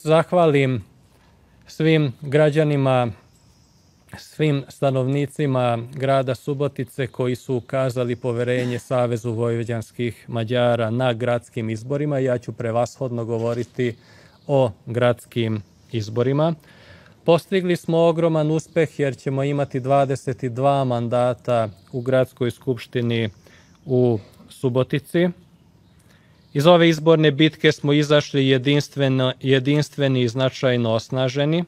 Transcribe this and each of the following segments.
zahvalim svim građanima, svim stanovnicima grada Subotice koji su ukazali poverenje Savezu vojvođanskih Mađara na gradskim izborima. Ja ću prevashodno govoriti o gradskim izborima. Postigli smo ogroman uspeh jer ćemo imati 22 mandata u gradskoj skupštini u Subotici. Iz ove izborne bitke smo izašli jedinstveni i značajno osnaženi.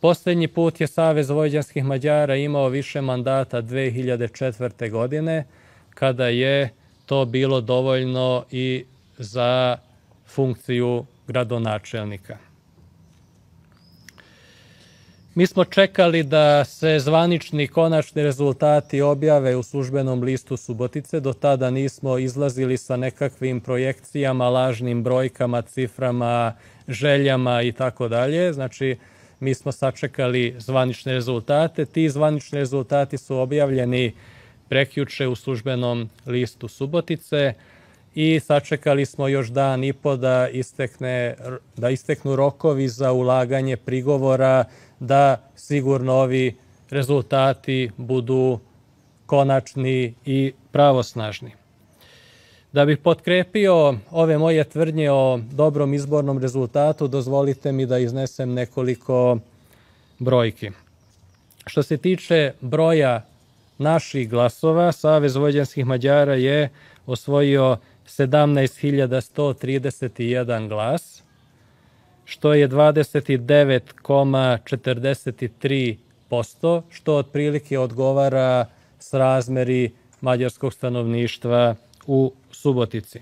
Poslednji put je Savez vojvođanskih Mađara imao više mandata 2004. godine, kada je to bilo dovoljno i za funkciju gradonačelnika. Mi smo čekali da se zvanični konačni rezultati objave u službenom listu Subotice. Do tada nismo izlazili sa nekakvim projekcijama, lažnim brojkama, ciframa, željama i tako dalje. Znači, mi smo sačekali zvanične rezultate. Ti zvanični rezultati su objavljeni prekjuče u službenom listu Subotice i sačekali smo još dan i po da isteknu rokovi za ulaganje prigovora, da sigurno ovi rezultati budu konačni i pravosnažni. Da bih potkrepio ove moje tvrdnje o dobrom izbornom rezultatu, dozvolite mi da iznesem nekoliko brojki. Što se tiče broja naših glasova, Savez vojvođanskih Mađara je osvojio 17.131 glas, što je 29,43%, što otprilike odgovara srazmeri mađarskog stanovništva u Subotici.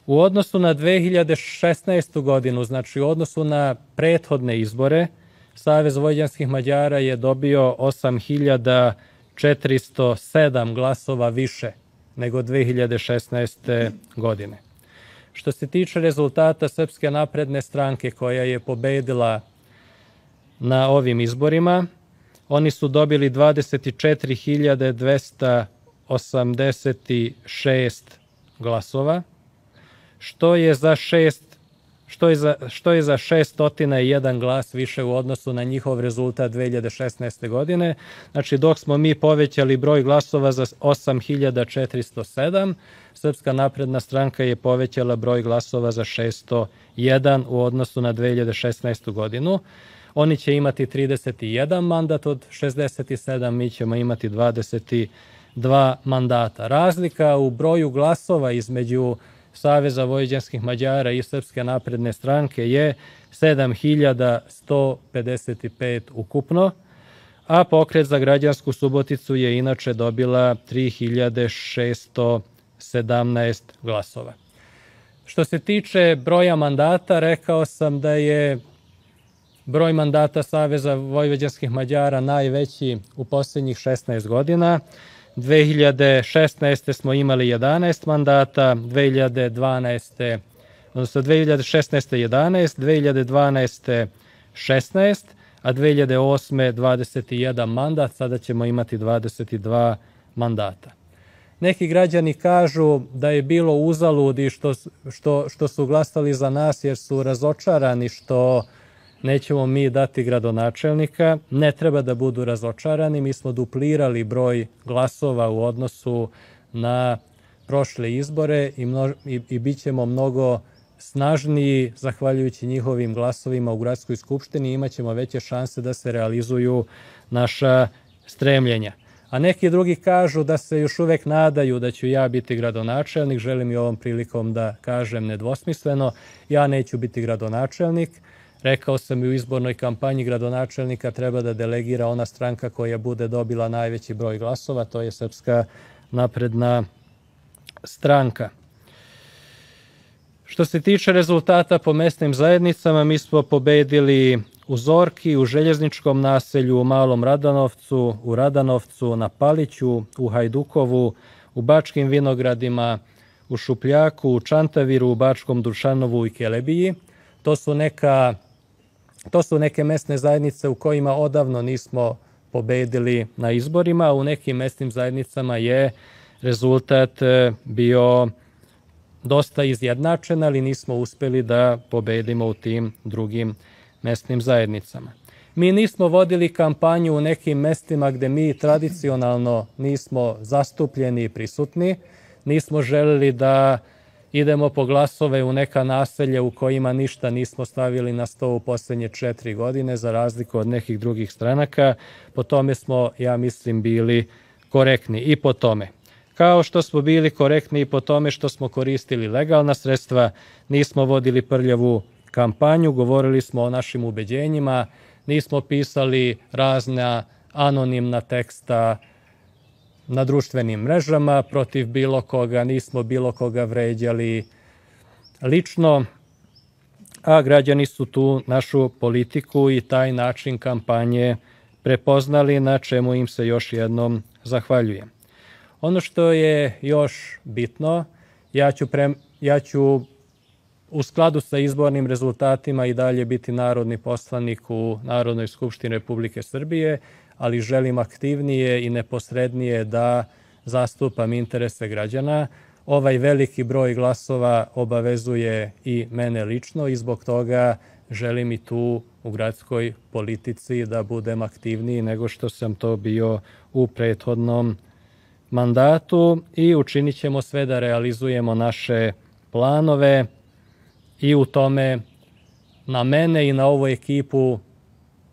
U odnosu na 2016. godinu, znači u odnosu na prethodne izbore, Savez vojvođanskih Mađara je dobio 8.407 glasova više nego 2016. godine. Što se tiče rezultata Srpske napredne stranke koja je pobedila na ovim izborima, oni su dobili 24.286 glasova, što je za 601 glas više u odnosu na njihov rezultat 2016. godine. Znači, dok smo mi povećali broj glasova za 8.407, Srpska napredna stranka je povećala broj glasova za 601 u odnosu na 2016. godinu. Oni će imati 31 mandat od 67, mi ćemo imati 22 mandata. Razlika u broju glasova između Saveza vojvođanskih Mađara i Srpske napredne stranke je 7.155 ukupno, a Pokret za građansku Suboticu je inače dobila 3.617 glasova. Što se tiče broja mandata, rekao sam da je broj mandata Saveza vojvođanskih Mađara najveći u posljednjih 16 godina. 2016. smo imali 11 mandata, 2016. 11, 2012. 16, a 2008. 21 mandat, sada ćemo imati 22 mandata. Neki građani kažu da je bilo uzaludi što su glasali za nas jer su razočarani što nećemo mi dati gradonačelnika. Ne treba da budu razočarani, mi smo duplirali broj glasova u odnosu na prošle izbore i bit ćemo mnogo snažniji zahvaljujući njihovim glasovima u gradskoj skupštini i imat ćemo veće šanse da se realizuju naša stremljenja. A neki drugi kažu da se još uvek nadaju da ću ja biti gradonačelnik. Želim i ovom prilikom da kažem nedvosmisleno, ja neću biti gradonačelnik. Rekao sam i u izbornoj kampanji, gradonačelnika treba da delegira ona stranka koja bude dobila najveći broj glasova, to je Srpska napredna stranka. Što se tiče rezultata po mesnim zajednicama, mi smo pobedili u Zorki, u Željezničkom naselju, u Malom Radanovcu, u Radanovcu, na Paliću, u Hajdukovu, u Bačkim Vinogradima, u Šupljaku, u Čantaviru, u Bačkom Dušanovu i Kelebiji. To su neke mesne zajednice u kojima odavno nismo pobedili na izborima. U nekim mesnim zajednicama je rezultat bio dosta izjednačena, ali nismo uspeli da pobedimo u tim drugim mesnim zajednicama. Mi nismo vodili kampanju u nekim mestima gde mi tradicionalno nismo zastupljeni i prisutni. Nismo želeli da idemo po glasove u neka naselja u kojima ništa nismo stavili na sto u poslednje 4 godine, za razliku od nekih drugih stranaka. Po tome smo, ja mislim, bili korektni i po tome. Kao što smo bili korektni i po tome što smo koristili legalna sredstva, nismo vodili prljavu kampanju, govorili smo o našim ubeđenjima, nismo pisali razna anonimna teksta na društvenim mrežama protiv bilo koga, nismo bilo koga vređali lično, a građani su tu našu politiku i taj način kampanje prepoznali, na čemu im se još jednom zahvaljujem. Ono što je još bitno, ja ću u skladu sa izbornim rezultatima i dalje biti narodni poslanik u Narodnoj skupštini Republike Srbije, ali želim aktivnije i neposrednije da zastupam interese građana. Ovaj veliki broj glasova obavezuje i mene lično i zbog toga želim i tu u gradskoj politici da budem aktivniji nego što sam to bio u prethodnom mandatu i učinit ćemo sve da realizujemo naše planove i u tome na mene i na ovu ekipu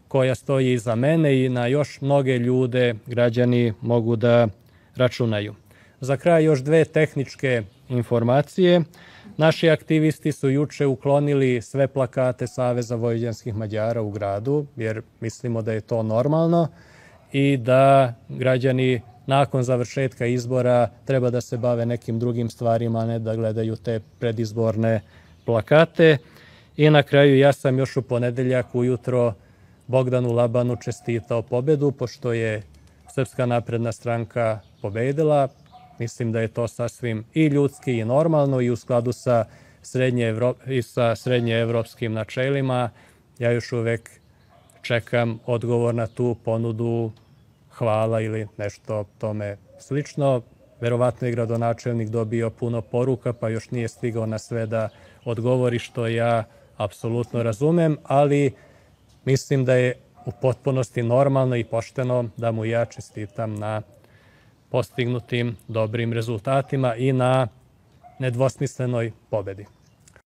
koja stoji iza mene i na još mnoge ljude građani mogu da računaju. Za kraj još 2 tehničke informacije. Naši aktivisti su juče uklonili sve plakate Saveza vojvođanskih Mađara u gradu, jer mislimo da je to normalno i da građani nakon završetka izbora treba da se bave nekim drugim stvarima, a ne da gledaju te predizborne plakate. I na kraju ja sam još u ponedeljak ujutro Bogdanu Labanu čestitao pobedu, pošto je Srpska napredna stranka pobedila. Mislim da je to sasvim i ljudski i normalno i u skladu sa srednjeevropskim načelima. Ja još uvek čekam odgovor na tu ponudu, hvala ili nešto tome slično. Verovatno je gradonačelnik dobio puno poruka, pa još nije stigao na sve da odgovori, što ja apsolutno razumem, ali mislim da je u potpunosti normalno i pošteno da mu ja čestitam na postignutim dobrim rezultatima i na nedvosmislenoj pobedi.